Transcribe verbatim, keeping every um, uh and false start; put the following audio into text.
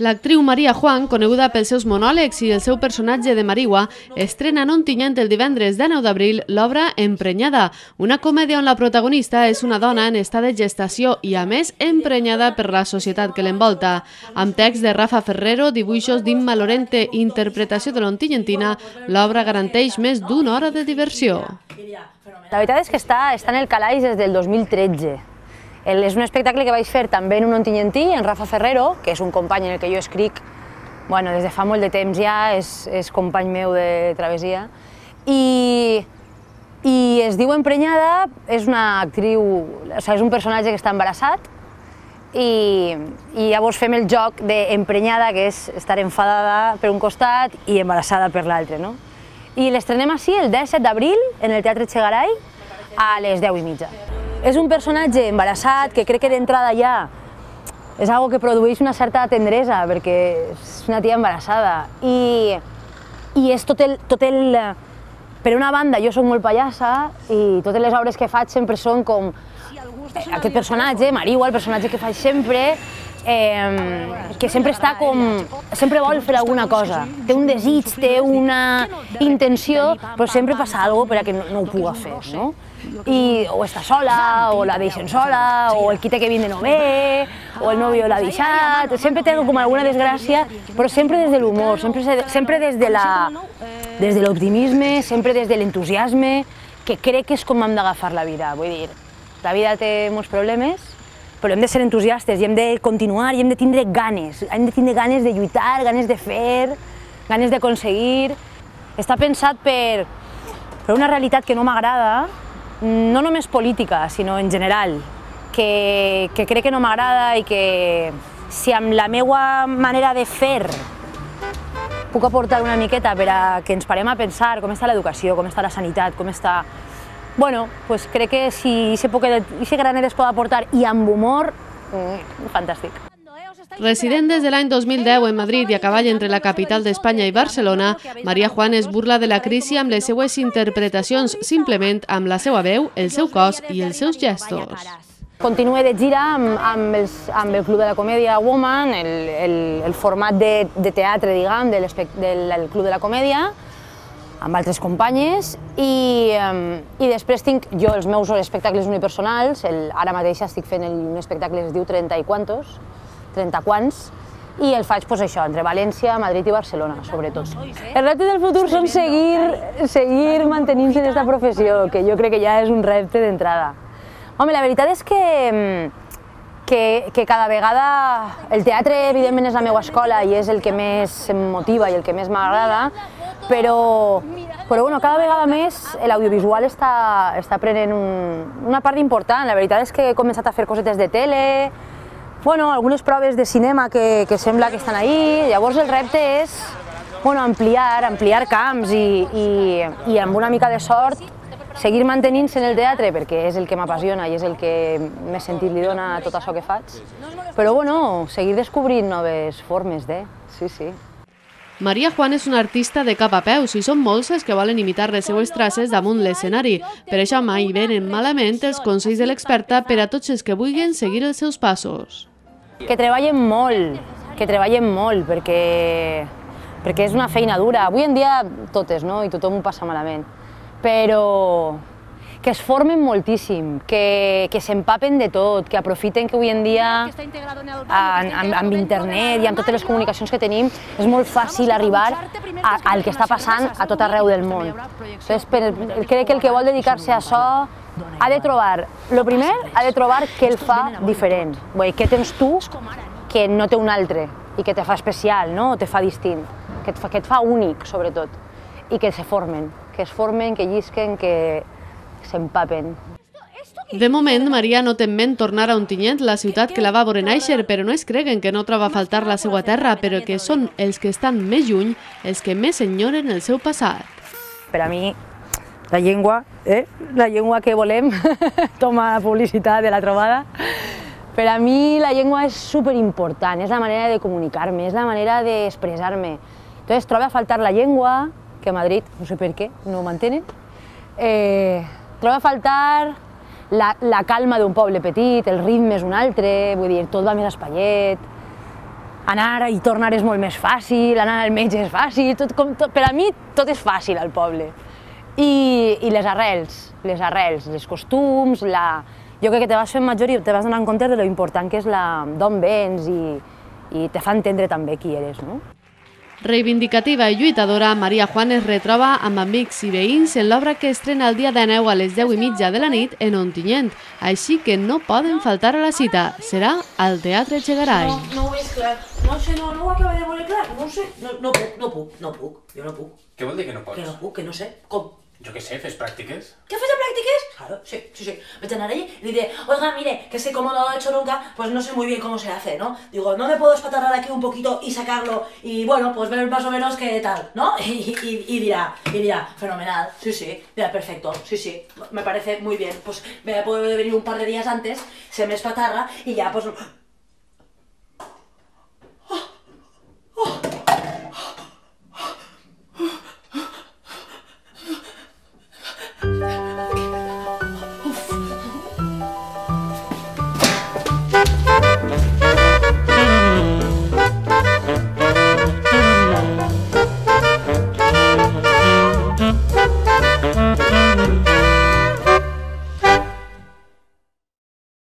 L'actriu Maria Juan, coneguda pels seus monòlegs i el seu personatge de Mariua, estrena en Ontinyent el divendres dinou d'abril l'obra Emprenyada, una comèdia on la protagonista és una dona en estat de gestació i, a més, emprenyada per la societat que l'envolta. Amb text de Rafa Ferrero, dibuixos d'Imma Lorente i interpretació de l'ontiyentina, l'obra garanteix més d'una hora de diversió. La veritat és que està, està en el calaix des del dos mil tretze. El, és un espectacle que vaig fer també en un ontinyentí, en Rafa Ferrero, que és un company en el que jo escric bueno, des de fa molt de temps ja, és, és company meu de travessia. I, i es diu Emprenyada, és una actriu, o sigui, és un personatge que està embarassat i, i llavors fem el joc d'emprenyada, que és estar enfadada per un costat i embarassada per l'altre, no? I l'estrenem així el disset d'abril en el Teatre Txegaray a les deu i mitja. És un personatge embarassat que crec que d'entrada ja és algo que produeix una certa tendresa perquè és una tia embarassada i, i és tot el, tot el... Per una banda, jo soc molt pallassa i totes les obres que faig sempre són com aquest personatge, Mariua, el personatge que faig sempre, eh, que sempre està com... sempre vol fer alguna cosa. Té un desig, té una intenció, però sempre passa alguna cosa perquè no, no ho pugui fer, no? I o està sola, o la deixen sola, o el qui té que vindre no ve, o el nòvio l'ha deixat, sempre té com alguna desgràcia, però sempre des de l'humor, sempre, sempre des de la, des de l'optimisme, sempre des de l'entusiasme, que crec que és com hem d'agafar la vida. Vull dir, la vida té molts problemes, però hem de ser entusiastes i hem de continuar i hem de tindre ganes, hem de tindre ganes de lluitar, ganes de fer, ganes d'aconseguir. Està pensat per, per una realitat que no m'agrada, no només política, sinó en general, que, que crec que no m'agrada i que si amb la meva manera de fer puc aportar una miqueta per a que ens parem a pensar com està l'educació, com està la sanitat, com està... Bueno, pues crec que si aquest granet es pot aportar i amb humor, mm, fantàstic. Resident des de l'any dos mil deu en Madrid i a cavall entre la capital d'Espanya i Barcelona, Maria Juan es burla de la crisi amb les seues interpretacions, simplement amb la seva veu, el seu cos i els seus gestos. Continue de gira amb, amb, els, amb el Club de la Comèdia Woman, el, el, el format de, de teatre, diguem, del, del Club de la Comèdia, amb altres companyes, i, i després tinc jo els meus espectacles unipersonals. El, ara mateix estic fent el, un espectacle que es diu Trenta i quantos, trenta quants, i el faig pues, això, entre València, Madrid i Barcelona, sobretot. El repte del futur són seguir, seguir mantenint-se en aquesta professió, que jo crec que ja és un repte d'entrada. Home, la veritat és que, que, que cada vegada el teatre, evidentment, és la meva escola i és el que més em motiva i el que més m'agrada, però, però bueno, cada vegada més l'audiovisual està, està prenent un, una part important. La veritat és que he començat a fer cosetes de tele, bueno, algunes proves de cinema que, que sembla que estan ahí. Llavors el repte és bueno, ampliar, ampliar camps i, i, i amb una mica de sort seguir mantenint-se en el teatre perquè és el que m'apassiona i és el que més sentit li dona a tot això que faig. Però bueno, seguir descobrint noves formes de... Sí, sí. Maria Juan és una artista de cap a peus i són molts els que volen imitar les seues traces damunt l'escenari. Per això mai venen malament els consells de l'experta per a tots els que vulguin seguir els seus passos. Que treballen molt, que treballen molt, perquè, perquè és una feina dura. Avui en dia totes, no? I tothom ho passa malament. Però que es formen moltíssim, que, que s'empapen de tot, que aprofiten que avui en dia amb, amb internet i amb totes les comunicacions que tenim és molt fàcil arribar a, al que està passant a tot arreu del món. Entonces, per, crec que el que vol dedicar-se a això ha de trobar, el primer, ha de trobar què el fa diferent. Vull dir, què tens tu que no té un altre i que te fa especial, no? O te fa distint, que et fa, que et fa únic, sobretot, i que se formen, que es formen, que llisquen, que s'empapen. De moment, Maria no té en ment tornar a Ontinyent, la ciutat que la va veure néixer, però no es creguen que no troba a faltar la seva terra, però que són els que estan més lluny, els que més enyoren el seu passat. Per a mi, la llengua, eh? la llengua que volem, toma publicitat de la trobada, per a mi la llengua és superimportant, és la manera de comunicar-me, és la manera d'expressar-me. Entonces, trobo a faltar la llengua, que a Madrid, no sé per què, no ho mantenen, eh, trobo a faltar la, la calma d'un poble petit, el ritme és un altre, vull dir, tot va més espaiet. anar i tornar és molt més fàcil, anar al metge és fàcil, tot, com, tot, per a mi tot és fàcil al poble. I, i les arrels, les arrels, els costums, la... jo crec que te vas fent major i te vas donant compte de lo important que és d'on vens i, i te fa entendre també qui eres, no? Reivindicativa i lluitadora, Maria Juan es retroba amb amics i veïns en l'obra que estrena el dia dènou a les deu i mitja de la nit en Ontinyent, així que no poden faltar a la cita. Serà al Teatre Echegaray. No, no ho veig clar. No sé, no, no ho acabo de veure clar. No sé, no, no puc, no puc, no puc. Jo no puc. Què vol dir que no pots? Que no puc, que no sé. Com? Jo què sé, fes pràctiques. ¿Qué haces de prácticas? Claro, sí, sí, sí. Vete a andar allí y le diré, oiga, mire, que es que como no lo he hecho nunca, pues no sé muy bien cómo se hace, ¿no? Digo, no me puedo espatarrar aquí un poquito y sacarlo y, bueno, pues ver más o menos qué tal, ¿no? Y, y, y dirá, y dirá, fenomenal, sí, sí, mira, perfecto, sí, sí, me parece muy bien. Pues me puede venir un par de días antes, se me espatarra y ya, pues